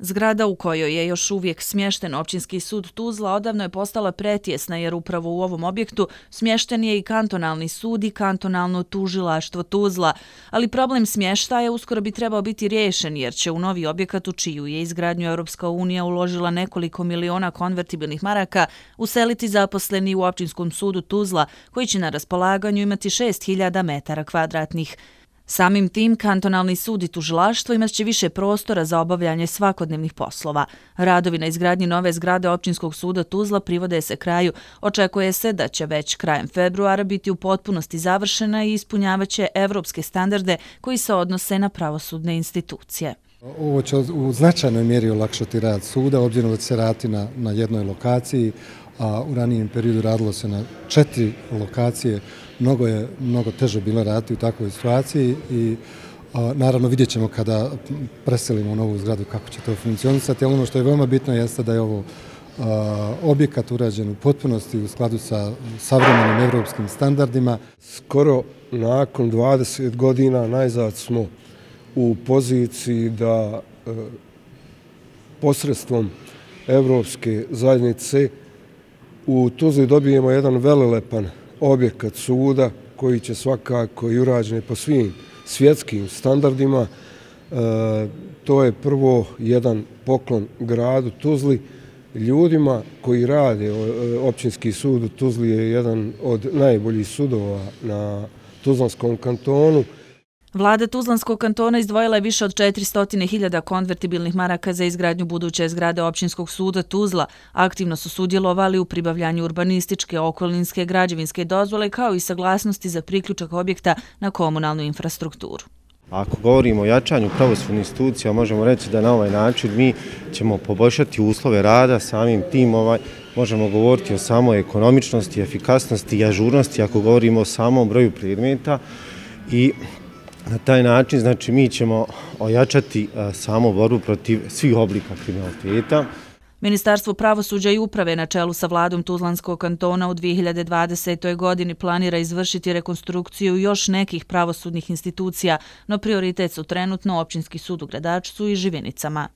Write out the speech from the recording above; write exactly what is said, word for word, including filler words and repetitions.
Zgrada u kojoj je još uvijek smješten općinski sud Tuzla odavno je postala pretjesna jer upravo u ovom objektu smješten je i kantonalni sud i kantonalno tužilaštvo Tuzla, ali problem smještaja uskoro bi trebao biti riješen jer će u novi objekat u čiju je izgradnju Europska unija uložila nekoliko miliona konvertibilnih maraka useliti zaposleni u općinskom sudu Tuzla koji će na raspolaganju imati šest hiljada metara kvadratnih. Samim tim, kantonalni sud i tužilaštvo imat će više prostora za obavljanje svakodnevnih poslova. Radovi na izgradnji nove zgrade općinskog suda Tuzla privode se kraju. Očekuje se da će već krajem februara biti u potpunosti završena i ispunjavaće evropske standarde koji se odnose na pravosudne institucije. Ovo će u značajnoj mjeri olakšati rad suda, obzirom da će se raditi na, na jednoj lokaciji, a u ranijem periodu radilo se na četiri lokacije. Mnogo je mnogo teže bilo raditi u takvoj situaciji i a, naravno vidjet ćemo kada preselimo u novu zgradu kako će to funkcionisati, ali ono što je veoma bitno jeste da je ovo a, objekat urađen u potpunosti u skladu sa savremenim evropskim standardima. Skoro nakon dvadeset godina najzad smo u poziciji da e, posredstvom Evropske zajednice u Tuzli dobijemo jedan velelepan objekat suda koji će svakako i urađen po svim svjetskim standardima. E, to je prvo jedan poklon gradu Tuzli, ljudima koji rade. Općinski sud u Tuzli je jedan od najboljih sudova na Tuzlanskom kantonu. Vlada Tuzlanskog kantona izdvojila je više od četiristo hiljada konvertibilnih maraka za izgradnju buduće zgrade općinskog suda Tuzla. Aktivno su sudjelovali u pribavljanju urbanističke, okolinske, građevinske dozvole kao i saglasnosti za priključak objekta na komunalnu infrastrukturu. Ako govorimo o jačanju pravosudnih institucija, možemo reći da na ovaj način mi ćemo poboljšati uslove rada, samim tim ovaj, možemo govoriti o samoj ekonomičnosti, efikasnosti i ažurnosti ako govorimo o samom broju predmeta i na taj način znači, mi ćemo ojačati samu borbu protiv svih oblika kriminaliteta. Ministarstvo pravosuđa i uprave na čelu sa vladom Tuzlanskog kantona u dvije hiljade dvadesetoj. godini planira izvršiti rekonstrukciju još nekih pravosudnih institucija, no prioritet su trenutno općinski sud u Gradačcu i Živinicama.